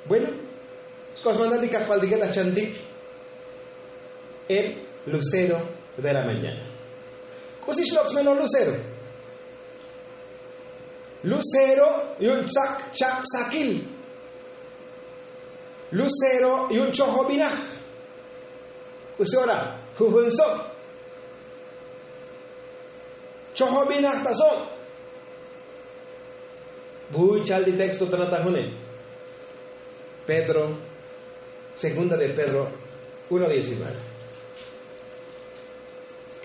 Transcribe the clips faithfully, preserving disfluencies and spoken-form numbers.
Bueno, sk'os mandal ti kajpaltike ta chantik el lucero de la mañana. K'usi xlok' smelol lucero? Lucero yu'un chak' chak' sakil. Lucero yu'un chojobinaj. K'usi ora jujun sok chojobinaj ta sok. Buy chal ti texto ta natajune. Pedro, segunda de Pedro uno diecinueve.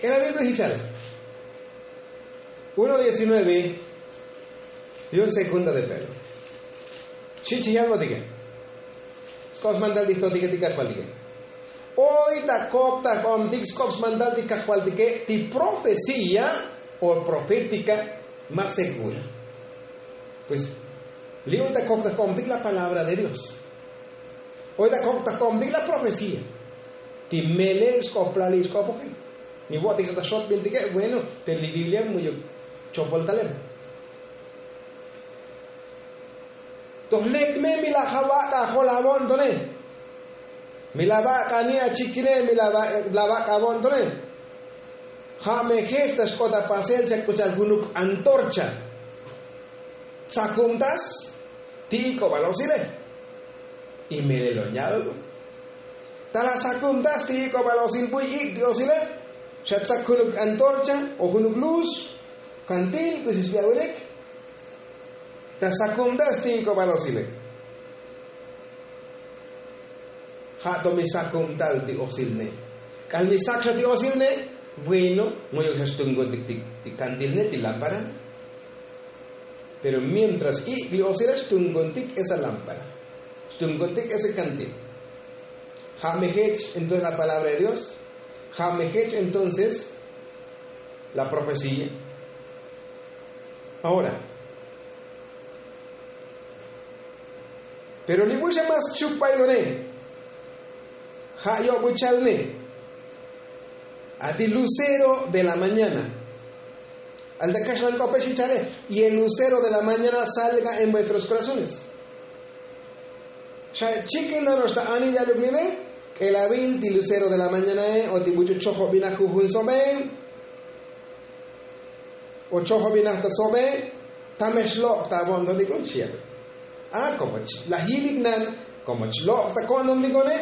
K'ela bin buy jichal uno diecinueve. Yu'un segunda de Pedro. Xi chi yalbotike. Sk'os mandal ti jtotike ti kajpaltike. Oy ta kok ta jk'omtik sk'os mandal ti kajpaltike ti profecía o profética más segura. Pues li' oy ta kok ta jk'omtik la palabra de Dios. Oy ta kok ta jk'omtik la profecía ti melel sk'oplal li' sk'opoke. Mi vo'tik xa ta xotbintike bueno, pero li biblia mu'yuk chopol talem. Toj lek me mi la ja' vak'a jol avo'ntone. Mi la vak'a ni achikine mi la vak'a avo'ntone. Ja' me jech ta xk'ot apasel chak k'u chal junuk antorcha. Tsakumtas ti ik'obal osile. Y melel oña' ta la sakumtas ti ik'obal osil buy ik' ti osile. Xa tsak junuk antorcha o junuk luz, kantil k'usi xbi awilik. Ta sakumtas ti ik'obal osile. Ja' to mi sakumtal ti osilne. K'al mi sak xa ti osilne. Bueno, mu'yuk xa xtunkontik ti kantilne ti lámpara. Pero mientras ik' li osile xtunkontik esa lámpara. Xtunkontik ese kantil. Ja' me jech entonces la palabra de Dios. Ja' me jech entonces la profecía. Ahora, pero li buy xa mas chuk bailone. Ja' yo'buchalne. A ti lucero de la mañana. Al ta kaxlan k'ope xi chale. Y el lucero de la mañana salga en vuestros corazones. Xa chikin nanox ta anil yaluk lile. K'elavil ti lucero de la mañanae o ti buch'u chojobinaj jujun sobe. O chojobinaj ta sobe. Tamel xlok' ta avo'ntonik un xi yaluk. A komo laj yilik nan komo chlok' ta ko'ntontik one.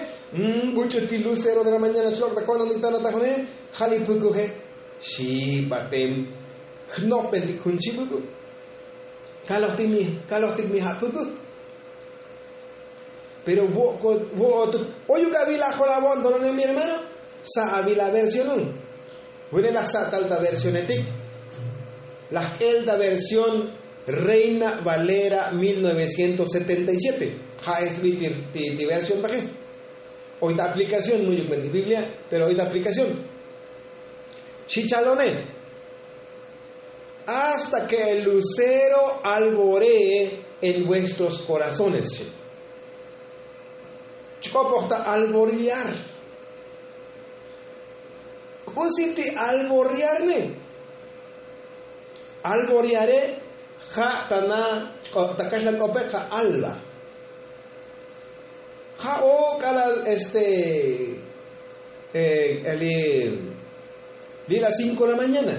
Buch'u ti lucero de la mañana chlok' ta ko'ntontik ta nataj one. Ja' li pukuje. Xi batem jnopbentik jun chibuk. Kalojtik mi ja' pukuj. Pero vo'otuk oyuk avila jol avo'nton one mi hermano. Sa' avila versionun. Vune laj sa' tal ta versionetik. Laj k'el ta versión reina valera mil novecientos setenta y siete. Ja' etsbi ti versiontaje. Oy ta aplikación mu'yuk me ti biblia. Pero oy ta aplikación. Xi chalone. Hasta ke el lucero alboree en vuestros korazones. Chk'opoj ta alboriar. K'usi ti alboriarne? Alboriare ja' ta na ta kaxlan k'ope ja' alba. Ja' o k'alal este li' la cinko la mañana.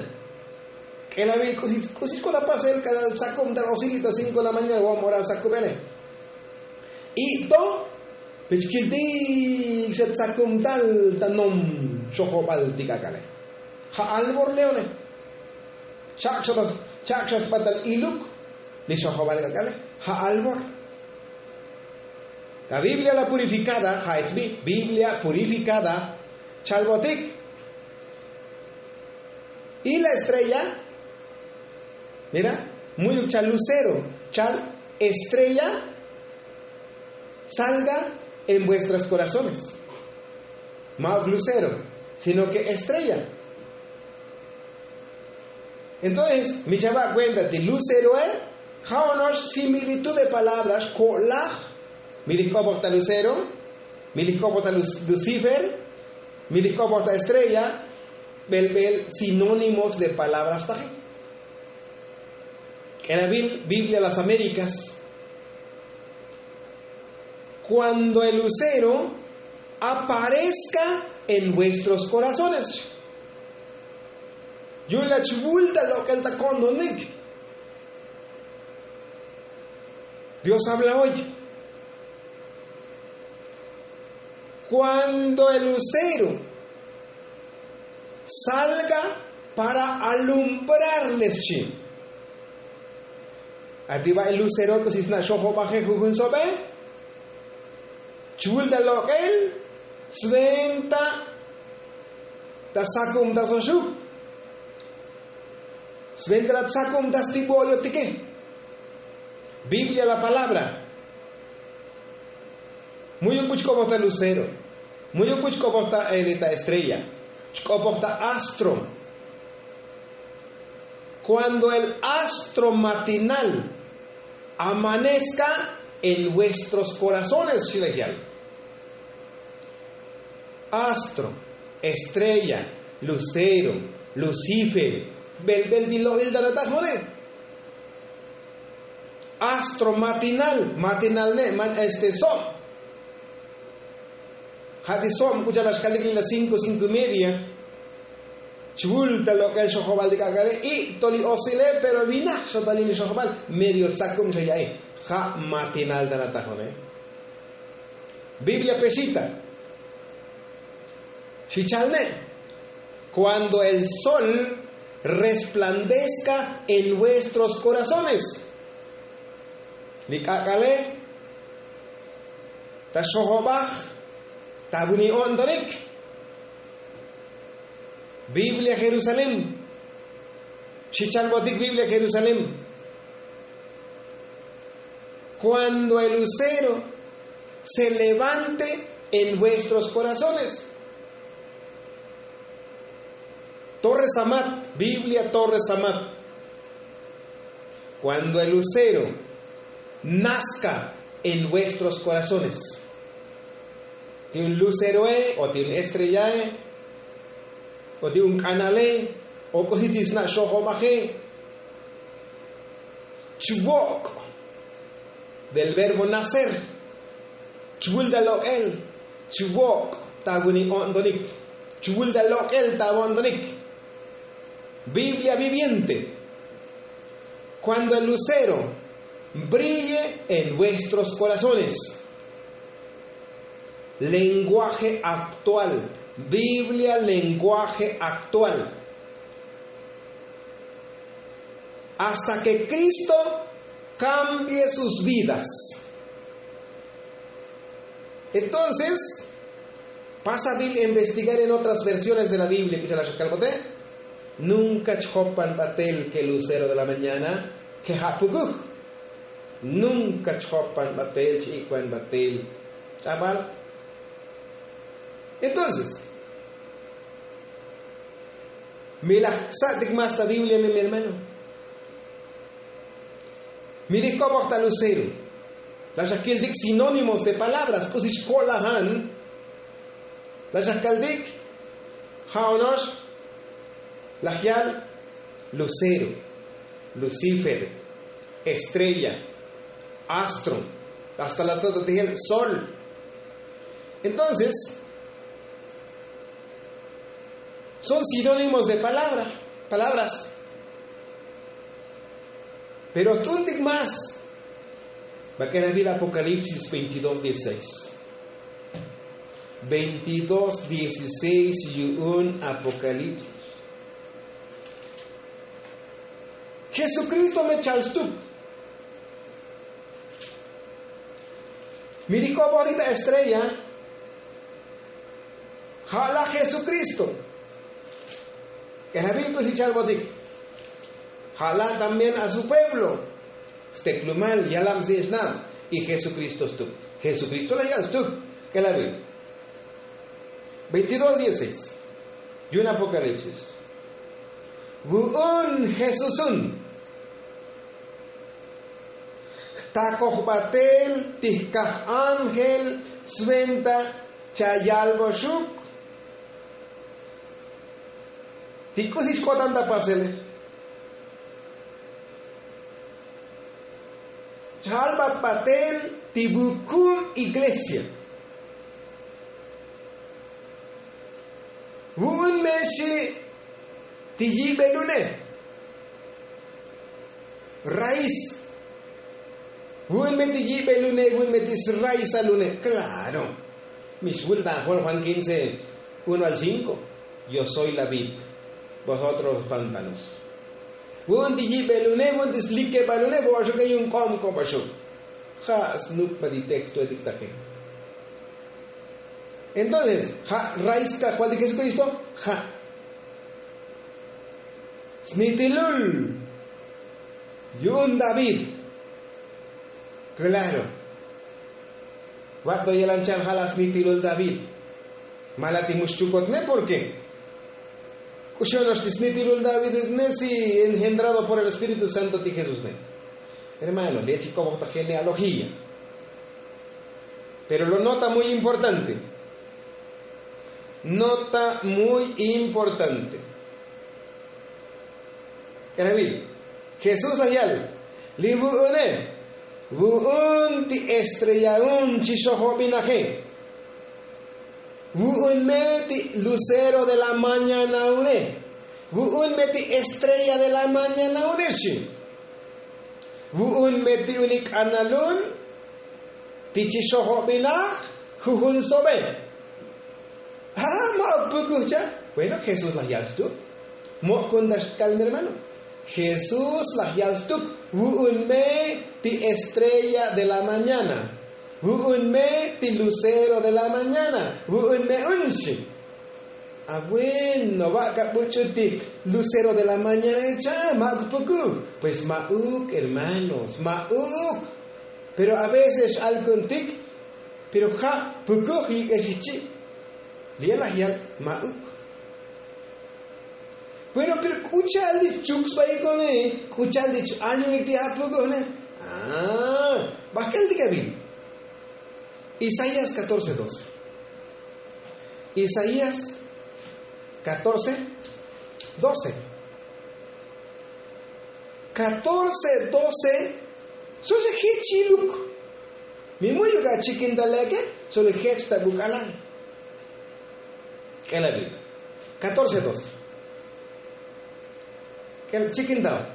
K'elavil k'usi k'usi k'o ta pasel k'alal tsakum tal osil li' ta cinko la mañana vo'om ora sakubele. Ik'to pech kiltik xa tsakum tal ta nom xojobal ti k'ak'ale. Ja' albor leone. Chak' xa sbatal iluk li xojobal k'ak'ale. Ja' albor. La biblia la purifikada ja' etsbi biblia purifikada. Chalbotik. Y la estrella mira, mu'yuk chal lucero chal estrella salga en vuestras korazones. Ma'uk lucero sino ke estrella. Entonces mi chava' kuenta ti luceroe. Ja' ono'ox similitud de palabras ko'laj. Mi lij k'opoj ta lucero, mi lij k'opoj ta lucifer, mi lij k'opoj ta estrella. Belbel sinónimos de palabras taji. K'elavil biblia las américas. Kuando el lucero aparezka en vuestros korazones. Yu'un la chvul ta lok'el ta ko'ntonik. Dios habla hoy. Kuando el lucero salga para alumbrarles chi. Ati ba el lucero k'usi sna' xojobaje jujun sobe. Chvul ta lok'el sventa ta sakum ta soxuk. Sventa la tsakum ta stibo'yotike. Biblia la palabra. Muyuk bu chk'oboj ta lucero. Muyuk bu chk'oboj ta elita estrella. Chk'oboj ta astro. Kuando el astro matinal amanezka en vuestros korazones xilejal. Astro, estrella, lucero, lucifer, belbel ti lo'il ta natajone. Astro matinal matinal ne' man este sob. Ja' ti sob k'u cha'al axkalik li la cinko cinko y media. Chvul ta lok'el xojobal ti k'ak'ale i' to li osile pero vinaj xotalil li xojobal. Medio tzakub xa ya'i. Ja' matinal ta natajone. Biblia pexita. Xi cha'al ne'. Kuando el sol resplandezka en vuestros korazones. Li k'ak'ale ta xojobaj ta vuni o'ntonik. Biblia jerusalén. Xi chalbotik biblia jerusalén. Kuando el lucero se levante en vuestros korazones. Torre samat biblia torre samat. Kuando el lucero nazka en vuestros korazones. Ti un luceroe o ti un estrellae o ti un k'anale o k'usi ti sna' xojobaje. Chvok' del verbo nacer. Chvul ta lok'el. Chvok' ta vuni o'ntonik. Chvul ta lok'el ta vo'ntonik. Biblia viviente. Kuando el lucero brille en vuestros korazones. Lenguaje aktual. Biblia lenguaje aktual. Asta ke kristo kambie sus vidas. Entonces pasa vil investigar en otras versiones de la biblia k'u cha'al axa kalbote. Nunka chjopan batel ke lucero de la mañana ke ja' pukuj. Nunka chjopan batel ch'ik'wan batel. Ch'abal. Entonces mi laj ksa'tik más ta biblia mi hermano. Mi lij k'oboj ta lucero. La xakiltik sinónimos de palabras k'usi xko'lajan. La xakaltik ja' ono'ox laj yal lucero, lucifer, estrella, astro, hasta la sota tijel sol. Entonces son sinónimos de palabra, palabras. Pero t'untik más. Bak'era vil apocalipsis veintidós dieciséis. Veintidós dieciséis yu'un apocalipsis. Jesukristo me chal stuk. Mi li k'oboj li ta estrella ja' la jesukristo. K'ejabil k'usi chalbotik. Ja' la también a su pueblo. Steklumal yalab snich'nab. Y jesukristo stuk. Jesukristo la yal stuk. K'elabil. Veintidós dieciséis. Yu'un apokalipsis. Vu'un jesusun jtakoj batel ti jkaj ángel sventa chayalboxuk. Ti k'usi chk'otan ta pasele. Chalbat batel ti bukum iglesia. Vu'un me xi ti yibelune. Raiz. Vu'un me ti yibelune vu'un me ti sraizalune. Klaro. Mix vulta' juan juan kince, uno al cinko. Yo soy la vid. Vosotros los pantanos. Vu'un ti yibelune vu'un ti slikebalune vo'oxuke yun k'om k'obaxuk. Ja' snukba ti teksto etik taje. Entonces ja' raiz kajval ti jesukristo. Ja' snitilul yu'un david. Klaro. Va'to yelan cha'al ja' la snitilul david. Mala ti muxchukotne porke k'uxonox ti snitilul david ne si engendrado por el espíritu santo ti jesús ne. Hermano le chikobojta genealogía. Pero lo nota muy importante. Nota muy importante. K'elavil jesús laj yal li vu'une vu'un ti estrellaun chi xojobinaje. Vu'un me ti lucero de la mañanaune. Vu'un me ti estrella de la mañanaune xi. Vu'un me ti unik k'analun ti chi xojobinaj jujun sobe. A ma'uk pukuj cha'. Bueno jesús laj yal stuk. Mo'kun ta xkal mi hermano. Jesús laj yal stuk. Vu'un me ti estrella de la mañana. Vu'un me ti lucero de la mañana. Vu'un me un xi. A bueno va' kabuch'u ti lucero de la mañana cha' ma'uk pukuj. Pues ma'uk hermanos ma'uk. Pero a veces x'alkuntik. Pero ja' pukuj yik'ex ichi'. Li'e laj yal ma'uk. Bueno pero k'u cha'al ti chuk sba ikone. K'u cha'al ti ch'añunik ti apukujne. Bajk'el ti k'abil. Isaías catorce doce. Isaías catorce doce. Catorce doce. Sole jech yiluk. Mi mu'yuk achikintaleke. Sole jech ta buk'alal. K'elabil. Catorce doce. K'el chikintal.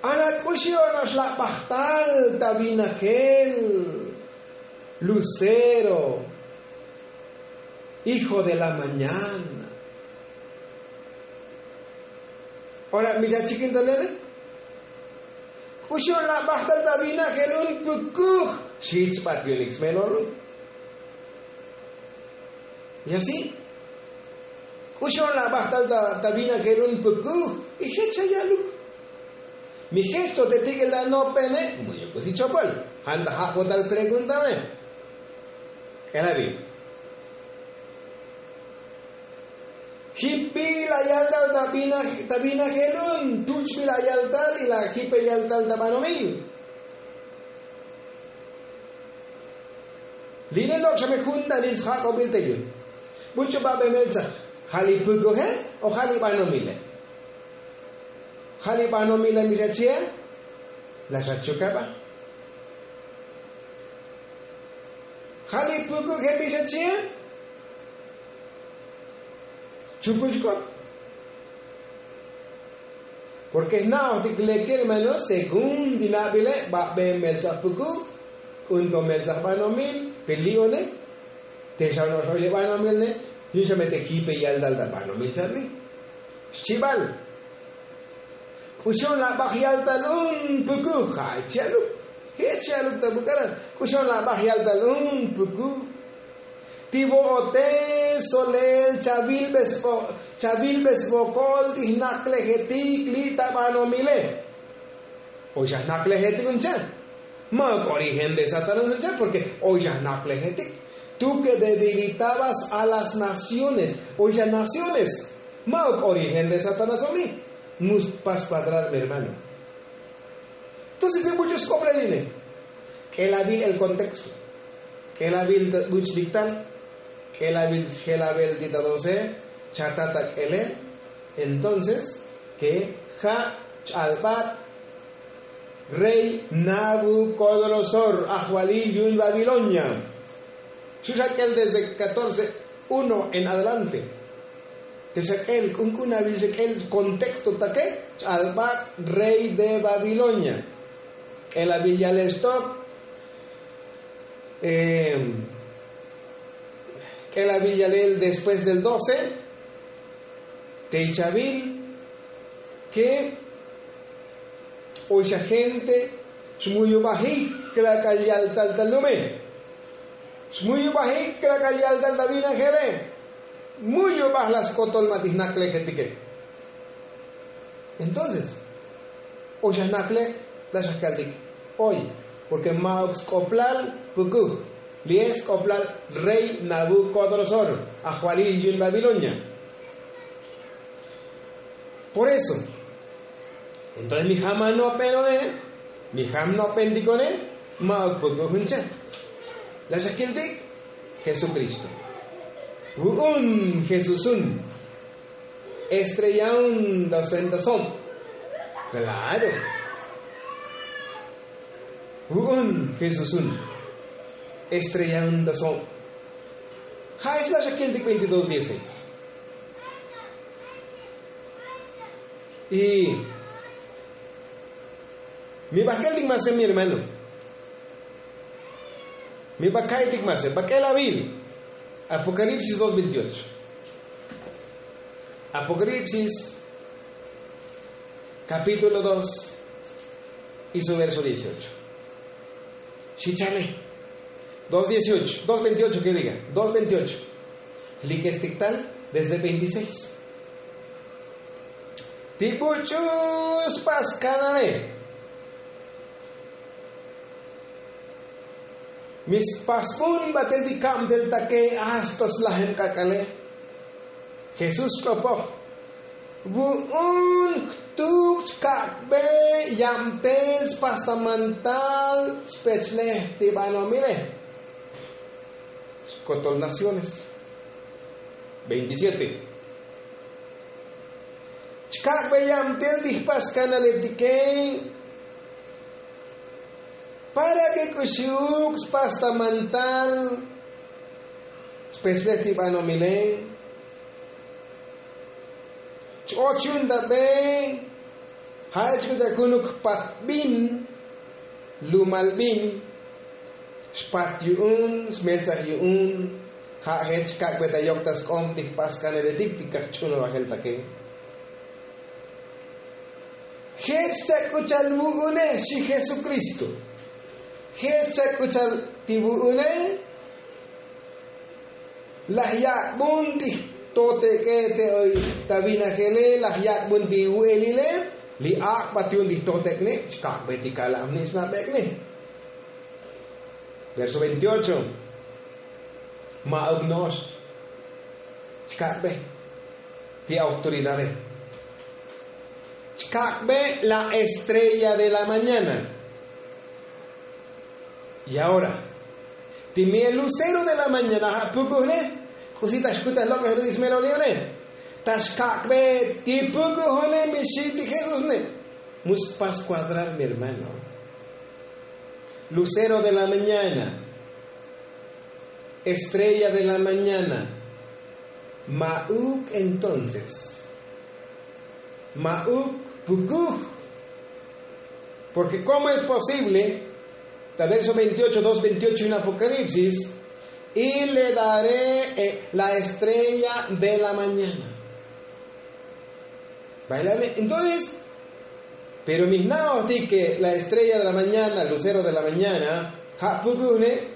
Ana k'uxi onox la' bajtal ta vinajel lucero, hijo de la mañana. Ora mi ta chikintalele. K'uxi onox la' bajtal ta vinajel un pukuj. Xich bat yunik smelolu. Y asi k'uxi onox la' bajtal ta vinajel un pukuj. Y jech xa yaluk. Mi jech to te tik'el ta nopene. Mu'yuk k'usi chopol. Janta ja' kotal preguntame. K'elabil. Jipi la' yaltal ta vinajel un tuch bi la' yaltal y la' jipe yaltal ta banomil. Li' ne lok' xa me juntanil sjak'obil te yun. Buch'u ba' be meltsa ja' li pukuje o ja' li banomile? Ja' li banomile mi xa chie. La xa chukaba. Ja' li pukuje mi xa chie. Chukul xk'ot. Porke jna'ojtik leke hermano según ti nabile ba' be meltsa pukuj. K'un to meltsa banomil. Pe li'one te xa ono'ox oy li banomil ne. Yu'un xa me te jipe yaltal ta banomil sat li. Xchibal. K'uxi onox la' baj yaltal un pukuj ja' jech yaluk. Jech yaluk ta buk'alal. K'uxi onox la' baj yaltal un pukuj. Ti vo'ote solel chavilbe sbo chavilbe sbokol ti jnaklejetik li' ta banomile. Oy xa jnaklejetik un cha'. Ma'uk origen de satanás un cha' porke oy xa jnaklejetik. Tú ke debilitabas a las naciones. Oy xa naciones. Ma'uk origen de satanás omi. Mus pas kuadrar mi hermano. Entonces pi buch'u sk'oplal ine. K'elabil el kontexto. K'elabil ta buch' liktal. K'elabil jelabil ti ta doce. Chata ta k'elel. Entonces ke ja' ch'albat. Rey nabukodonosor ajvalil yu'un babilonia. Xu' xa k'el desde katorce uno en adelante. Te xa k'el k'unk'un abil xa k'el kontexto take ch'albak' rey de babilonia. K'el abil yalel xtok k'el abil yalel después del doce. Tey chabil ke oy xa gente xmuyubajik klak'al yaltal ta lume. Xmuyubajik klak'al yaltal ta vinajele. Muyubaj la skotol ma' tijnaklejetike. Entonces oy xa jnaklej la xa kaltik oy. Porke ma'uk sk'oplal pukuj. Li'e sk'oplal rey nabukodonosor ajvalil yu'un babilonia. Por eso entonces mi jam ano'pen one mi jam no'pentik one. Ma'uk pukuj jun che la xa kiltik jesukristo. Vu'un jesusun estreyaun ta sentason. Klaro. Vu'un jesusun estreyaun ta son. Ja' es la xa kiltik veintidós dieciséis. Y mi bajk'eltik mase mi hermano. Mi baka'aytik mase bak'el abil. Apocalipsis dos veintiocho. Apocalipsis capítulo dos y su verso dieciocho. Xichale. Dos dieciocho dos veintiocho ke diga. Dos veintiocho. Likestik tal desde veintiséis. Ti buch'u spas kanale. Mi spasbun batel ti kabtel take hasta slajem k'ak'ale. Jesús k'opoj. Vu'un jtuk chkak'be yabtel spas ta mantal speslej ti banomile. Skotol naciones. Veintisiete. Chkak'be yabtel ti jpas kanaletike para ke k'uxuk spas ta mantal speslej ti banomile. Ch-och yu'un ta be. Ja' ech k'u ta kunuk jpat bin lumal bin. Xpat yu'un smeltsaj yu'un. Ja' jech kak'be ta yok ta sk'ob ti jpas kaneletik ti kajch'unol bajel take. Jech chak'u chal vu'une xi jesukristo. Jech chak'u chal ti vu'une. Laj yak'bun ti jtotek'e te oy ta vinajele laj yak'bun ti vu'elile. Li ak'bat yu'un ti jtotek'ne chkak'be ti kala'mni xnabek'ne. Verso veintiocho. Ma'uk no'ox chkak'be ti autoridade. Chkak'be la estrella de la mañana. Y ahora ti mi el lucero de la mañana ja' pukujne. K'usi ta xkutaj lok'ej ruti smelolione ta xkak'be ti pukujone mi xi ti jesusne. Mu spas kuadrar mi hermano. Lucero de la mañana. Estrella de la mañana. Ma'uk entonces ma'uk pukuj. Porke komo es posible ta verso veintiocho dos veintiocho en apocalipsis y le daré la estrella de la mañana. Bailale entonces. Pero mi jna'ojtik ke la estrella de la mañana lucero de la mañana ja' pukujne.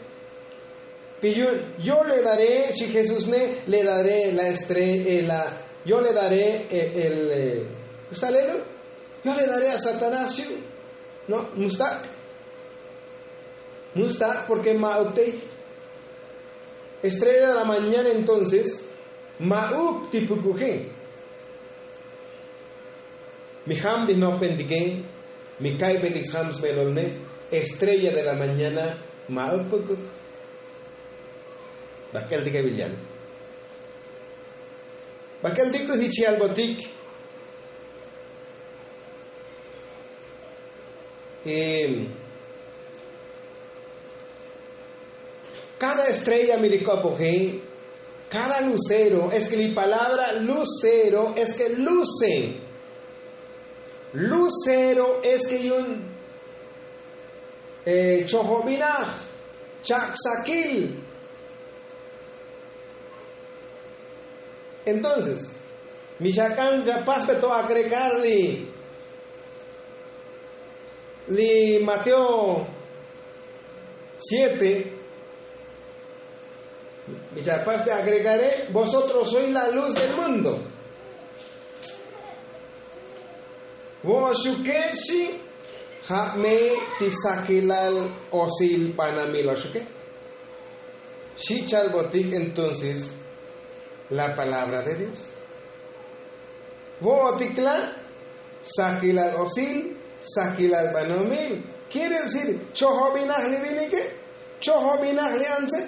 Pi yu'un yo le daré xi jesús ne le daré la estrella. Yo le daré el. Gustalelo yo le daré a satanás yu'. No mustak'. Mustak' porke ma'uk tey. Estrella de la mañana entonces ma'uk ti pukuje. Mi jam ti jnopentike mi ka'ybetik sjam smelolne. Estrella de la mañana ma'uk pukuj. Bak'eltik abil yan. Bak'eltik k'usi chi albotik. Cada estrella mi li kopoje, cada lucero es ke li palabra lucero es ke luce. Lucero es ke yun chojobinaj, chak' sakil. Entonces mi xak'an ya paspe to agregar li li mateo siete. Mi ya paspe agregare vosotros sois la luz del mundo. Vo'oxuke xi ja' me ti sakilal osil banamil oxuke. Xi chalbotik entonces la palabra de dios. Vo'otik la' sakilal osil, sakilal banomil. Kiere decir chojobinaj li vinike, chojobinaj li antse.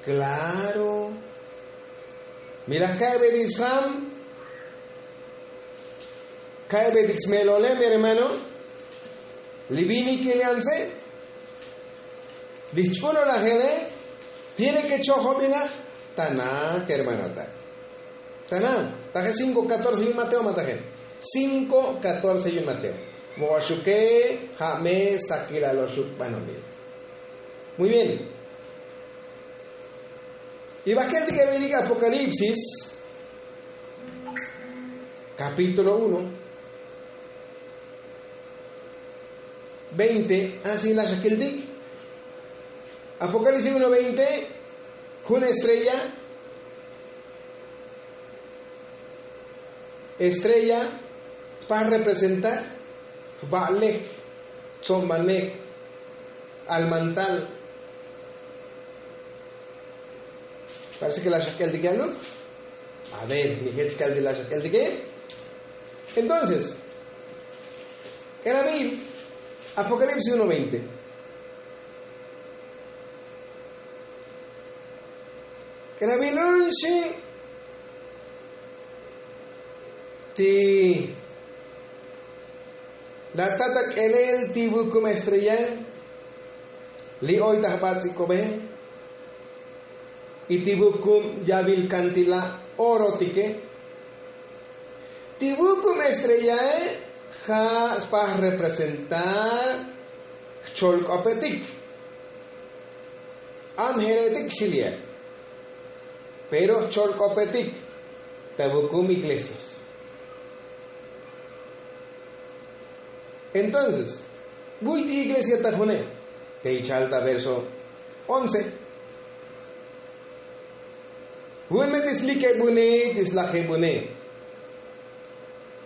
Klaro. Mi laj ka'be ti sjam, ka'be ti smelole mi hermano, li vinike li antse, li ch'ulolajele tiene ke chojobinaj. Tana kermanotak. Tana taje cinko katorce yun mateo mataje. Cinko katorce yun mateo. Vo'oxuke ja' me sakilal oxuk banomil. Muy bien. Y bakel ti ke vinik apokalipsis kapítulo uno, veinte. Asi la xakiltik apokalipsis uno veinte. Jun estrella estrella spa representar jba'lej, tzomanej, almantal. Parece ke la xak'el tike aluk. A ver mi jech kal ti la xak'el tike. Entonces k'elamil apokalipsis uno veinte. K'elamil un xi ti la tata k'elel ti vukum estrella li oy ta jbats'ikobe y ti vukum yavil kantila' orotike. Ti vukum estrellae ja' spa representar jcholk'opetik. Anjeletik xiliye. Pero jcholk'opetik ta vukum iglesias. Entonces vuy ti iglesia ta june te ichal ta verso once. Vun me ti slikebune ti slajebune.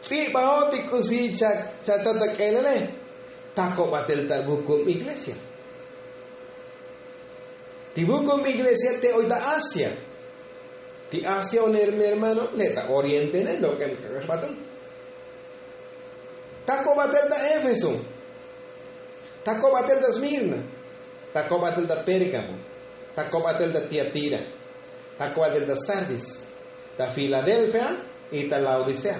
Ts'ibao ti k'usi cha tata k'elele. Tako batel ta vukum iglesia. Ti vukum iglesia te oy ta asia. Ti asia un hermano le ta oriente ne lok'em kakaxbatun. Tako batel ta efeso. Tako batel ta smirna. Tako batel ta pérgamo. Tako batel ta tiatira. Tako batel ta sardis. Ta filadelfia y ta laodicea.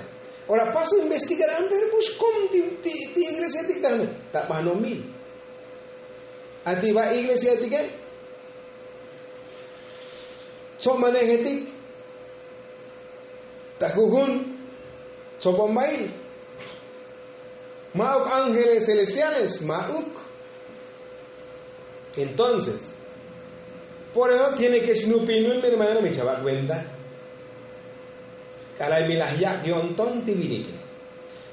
Ora paso investigar anter bux kom ti iglesia ti ta banomil. Ati ba iglesia ti ke tsomanejetik ta jujun tsobombail. Ma'uk ángeles celestiales ma'uk. Entonces por eso tiene ke xnupinun mi hermano mi chava' kuenta. K'alal mi laj yak' yo'nton ti vinike.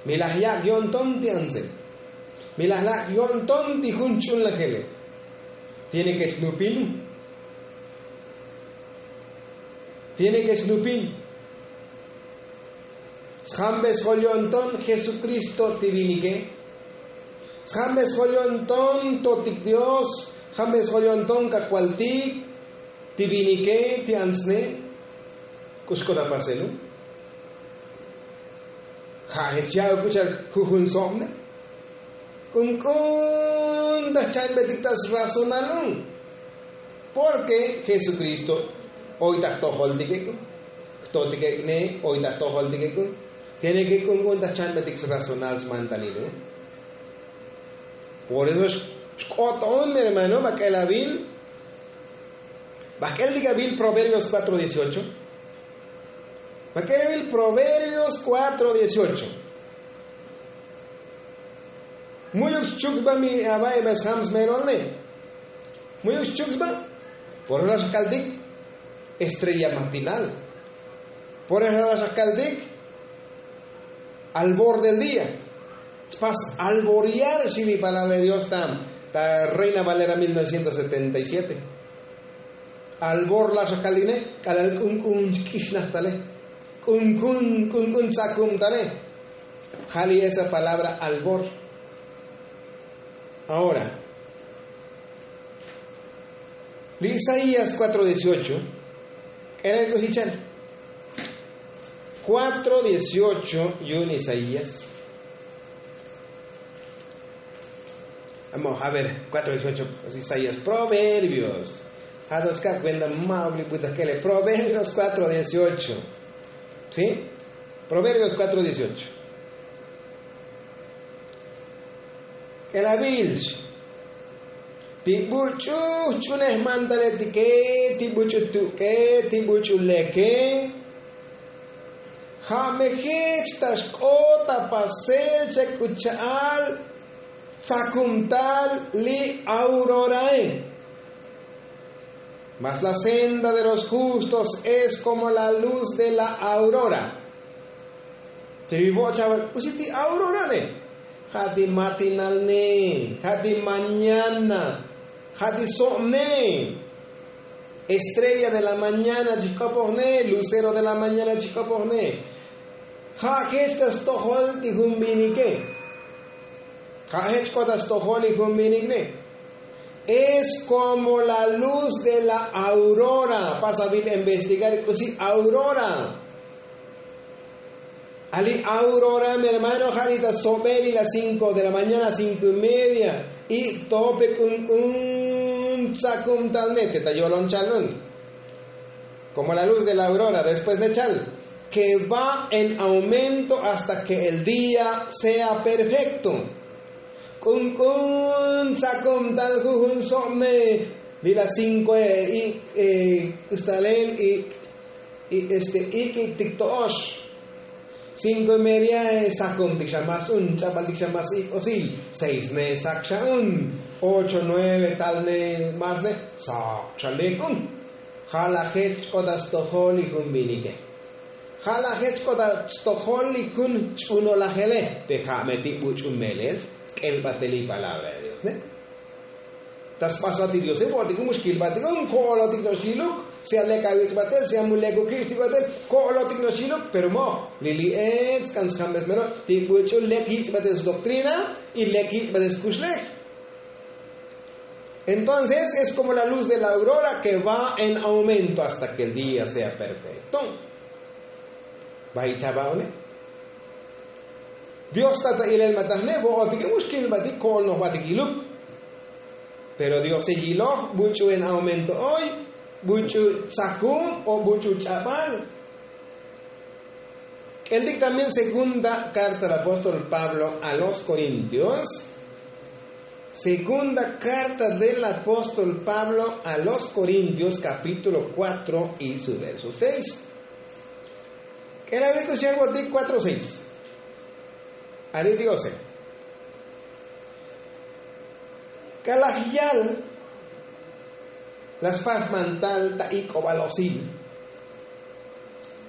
Mi laj yak' yo'nton ti antse. Mi laj yak' yo'nton ti jun ch'unlajele. Tiene ke xnupinun. Tiene ke xnupin. Sjambe sjol yo'nton jesukristo ti vinike. Sjambe sjol yo'nton totik dios. Sjambe sjol yo'nton kakualtik ti vinike ti antsne. K'uxk'o ta paselu. Ja' jech ya'uk k'uchal jujun sobne. K'unk'un ta jchanbetik ta srazonalun. Porke jesukristo oy ta jtojoltikek'un. Jtotikek'ne oy ta jtojoltikek'un. Tiene ke k'unk'un ta jchanbetik srazonal smantalilun. Por eso xk'ot on mi hermano ma k'el avil. Ma k'el dik avil proverbios cuatro dieciocho. Ma k'el avil proverbios cuatro dieciocho. Mu'yuk xchuk sba mi ava' eva sjam smerol ne. Mu'yuk xchuk sba. Por eso la xkaltik estrella matinal. Por eso la xkaltik albor del día. Spas alboriar xi li palabra de dios ta ta reina valera mil novecientos setenta y siete. Albor la xakaline k'alal k'unk'un chk'ixnaj tale. K'unk'un k'unk'un tzakum tale. Ja' li esa palabra albor. Ahora li isaías cuatro dieciocho. K'elel k'uxichal. Cuatro dieciocho yu'un isaías. Vamos a ver cuatro dieciocho. Isaías proverbios. Ja' to chkab' kuenta ma' ok li puta k'ele proverbios cuatro dieciocho. Sí. Proverbios cuatro dieciocho. K'elavilch ti buch'u jch'unej mantaletike ti buch'u tuk'e ti buch'u leke. Ja' me jech ta xk'ot ta pasel chek k'u cha'al tzakumtal li aurorae. Mas la senda de los justos es komo la luz de la aurora. Pero ivo' cha'al k'usi ti aurora ne? Ja' ti matinal ne ja' ti mañana ja' ti so'm ne. Estrella de la mañana chijk'opoj ne lucero de la mañana chijk'opoj ne. Ja' jech ta stojol ti jun vinike. Ja' jech k'ot ta stojol ti jun vinik ne. Es komo la luz de la aurora. Pasa vin investigar k'usi aurora. Ali aurora mi hermano ja' li ta sobe li la cinko de la mañana cinko y media. Ik'to pe k'unk'un tzakumtal ne te ta yolon chalun. Komo la luz de la aurora después de chal ke va en aumento hasta ke el día sea perfekto. K'unk'un tzakumtal jujun sob ne. Li la cinko e ik' k'ustalel ik' este ik' ik'tik to'ox. Cinko y media e sakumtik xa mas un ch'abaltik xa mas ik'osil. Seis ne sak xa un. Ocho nueve tal ne mas ne sok xa lek un. Ja' la jech ch'ot ta stojol li jun vinike. Ja' la jech ch'ot ta stojol li jun ch'unolajele. Pe ja' me ti buch'u melel sk'elbatel li palabra de dios ne. Ta sbasbat ti diose bo'otik un mu xkilbatik un ko'olotik no'ox yiluk. Si alek awich'batel si amu lekuk jich' tikbatel ko'olotik no'ox yiluk pero mo'oj li li ech sk'an sjambes mero ti buch'u lek yich'batel sdoktrina. Y lek yich'batel skuxlej. Entonces es komo la luz de la aurora ke va en aumento hasta ke el día sea perfekto. Ba'i' chaba'one. Dios ta ta ilel matajne bo'otike mu xkilbatik ko'olnojbatik iluk. Pero diose yiloj buch'u en aumento oy buch'u tzakun o buch'u ch'abal. K'eltik también segunda karta del apóstol pablo a los korintios. Segunda karta del apóstol pablo a los korintios kapítulo kuatro y su verso seis. K'elabil k'usi ya votik kuatro seis. Ari diose. K'alaj yal la spas mantal ta ik'obal osil.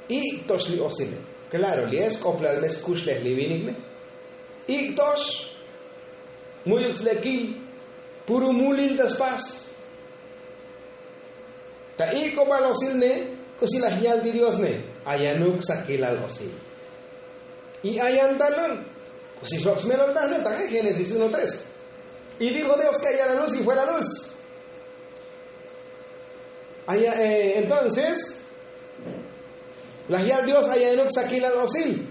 Ik'tox li osile. Klaro li es k'oplal me skuxlej li vinik ne. Ik'tox. Mu'yuk slekil. Puru mulil ta spas. Ta ik'obal osil ne. K'usi laj yal ti dios ne. Ayanuk sakilal osil. Y ayan talun. K'usi xlok' smelol tajne ta génesis uno tres. Y dijo dios ke aya la luz y fue la luz. Entonces laj yal dios ayanuk sakilal osil.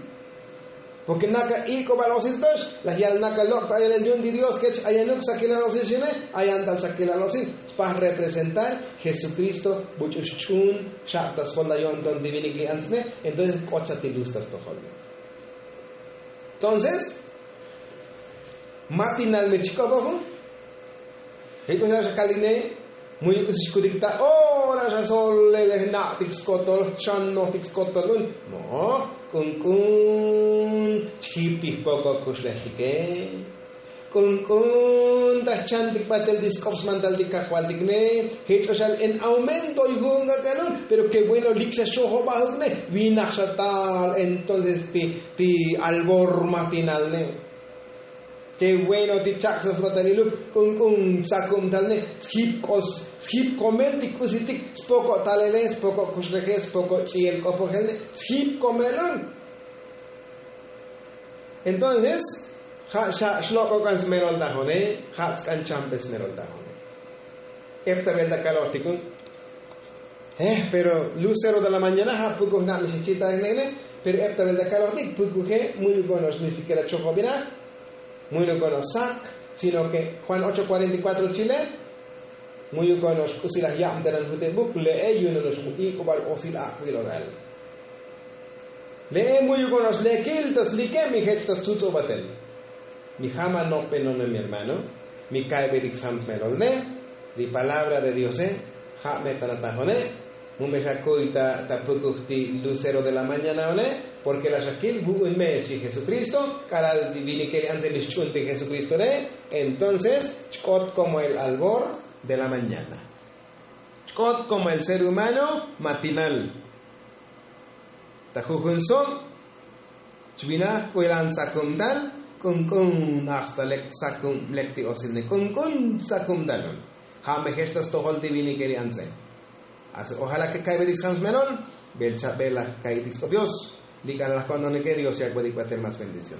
Porke naka ik'obal osil tox laj yal naka lok' ta ayalel yu'un ti dios kech ayanuk sakilal osil xine. Ayan tal sakilal osil. Spaj representar jesukristo buch'u xch'un xab ta sjol ta yo'nton ti vinik li ants ne. Entonces k'ot xa ti luz ta stojol. Entonces Matinal me chik'opoju. Jik'o xa xakalik ne. Muyu k'usi xkutik ta ora xa solele jna'tik skotol xanojtik skotol un. Mo k'unk'un chjiptik poko' kuxlejtike. K'unk'un ta jchantik batel ti sk'op smantal ti kajvaltik ne. Jik'o xa en aumento yu'un kak'al un. Pero ke bueno lik xa xojobajuk ne. Vinaj xa tal entonces ti albor matinal ne. Te bueno ti chak' sasbataliluk k'unk'un tsakum tal ne. Sjip k'os sjip komel ti k'usitik spoko' talele spoko' kuxleje spoko' ch'iyel k'opojel ne. Sjip komel un. Entonces ja' xa xlok'o k'an smerol tajone. Ja' tsk'an champe smerol tajone. Epta bel ta kalojtikun. Pero lucero de la mañana ja' pukuj na' mi xechitanej ne. Pero epta bel ta kalojtik pukuje muyu konox ni sikiera chojobinaj. Muyu konox sak sino ke juan ocho kuarenta y kuatro chile. Muyu konox k'usilaj yabtenan jutebuk le'e yu nonox mu ik'ubal osil ak'bilodal. Le'e muyu konox lekil ta slike mi jech ta stutsobatel. Mi jama nope none mi hermano. Mi kaibetik sam smelol ne. Li palabra de diose ja' me ta natajone. Mu me xakuy ta pukuj ti lucero de la mañana one. Porke la xakil vu'un me xi jesukristo k'alal vinike li antse mi xch'untik jesukristo ne. Entonces chk'ot komo el albor de la mañana. Chk'ot komo el ser humano matinal. Ta jujun so' chvinaj k'u elan tsakum tal. K'unk'un hasta lek tsakum lek ti osil ne k'unk'un tsakum tal un. Ja' me jech ta stojol ti vinike li antse. Ojala ke kaibetik skam smelol. Bel chabel laj kaitik sk'op dios. Li k'alal laj ko'ntonike dios yakbetik batel mas bendición.